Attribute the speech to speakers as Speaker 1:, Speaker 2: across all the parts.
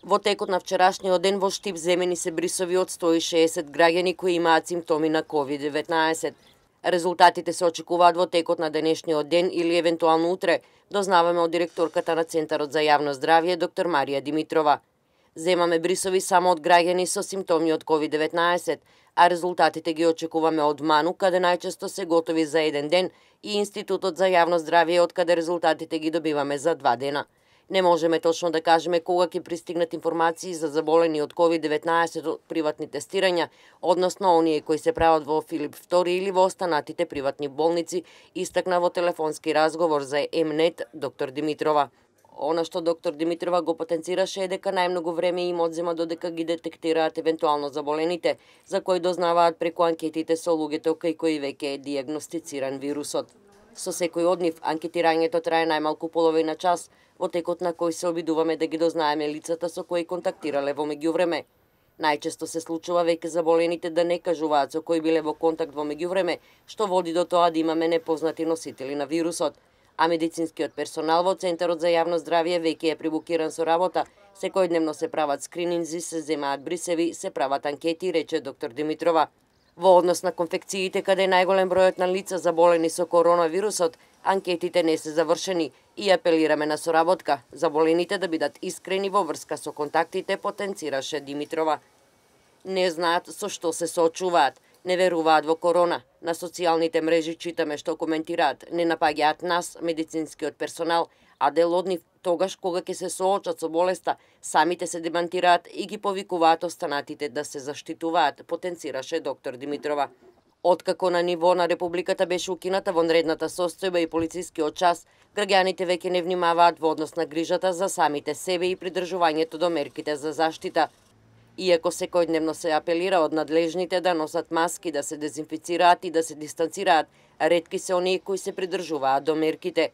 Speaker 1: Во текот на вчерашниот ден во Штип земени се брисови од 160 граѓани кои имаат симптоми на COVID-19. Резултатите се очекуваат во текот на денешниот ден или евентуално утре, дознаваме од директорката на Центарот за јавно здравје, доктор Марија Димитрова. Земаме брисови само од граѓани со симптоми од COVID-19, а резултатите ги очекуваме од МАНУ, каде најчесто се готови за еден ден, и Институтот за јавно здравје, од каде резултатите ги добиваме за 2 дена. Не можеме точно да кажеме кога ќе пристигнат информации за заболени од COVID-19 од приватни тестирања, односно оние кои се прават во Филип II или во останатите приватни болници, истакна во телефонски разговор за М-нет доктор Димитрова. Она што доктор Димитрова го потенцираше е дека најмногу време им одзема додека ги детектираат евентуално заболените, за кои дознаваат преку анкетите со луѓето кај кои веќе е диагностициран вирусот. Со секој од нив, анкетирањето трае најмалку половина час, во текот на кој се обидуваме да ги дознаеме лицата со кои контактирале во меѓувреме. Најчесто се случува веќе заболените да не кажуваат со кои биле во контакт во меѓувреме, што води до тоа да имаме непознати носители на вирусот. А медицинскиот персонал во Центарот за јавно здравје веќе е прибукиран со работа, секојдневно се прават скрининзи, се земаат брисеви, се прават анкети, рече доктор Димитрова. Во однос на конфекциите, каде е најголем бројот на лица заболени со коронавирусот, анкетите не се завршени и апелираме на соработка, заболените да бидат искрени во врска со контактите, потенцираше Димитрова. Не знаат со што се соочуваат, не веруваат во корона. На социјалните мрежи читаме што коментираат, не напаѓаат нас, медицинскиот персонал, а дел од нив тогаш кога ќе се соочат со болеста, самите се демантираат и ги повикуваат останатите да се заштитуваат, потенцираше доктор Димитрова. Откако на ниво на Републиката беше укината вонредната состојба и полицискиот час, граѓаните веќе не внимаваат во однос на грижата за самите себе и придржувањето до мерките за заштита. Иако секојдневно се апелира од надлежните да носат маски, да се дезинфицираат и да се дистанцираат, ретки се оние кои се придржуваат до мерките.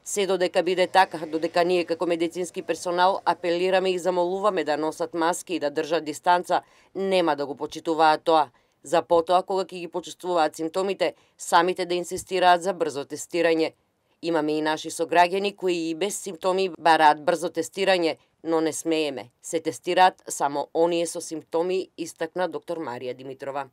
Speaker 1: Се додека биде така, додека ние како медицински персонал апелираме и замолуваме да носат маски и да држат дистанца, нема да го почитуваат тоа. За потоа, кога ќе ги почувствуваат симптомите, самите да инсистираат за брзо тестирање. Имаме и наши сограѓани кои и без симптоми бараат брзо тестирање, но не смееме. Се тестираат само оние со симптоми, истакна доктор Марија Димитрова.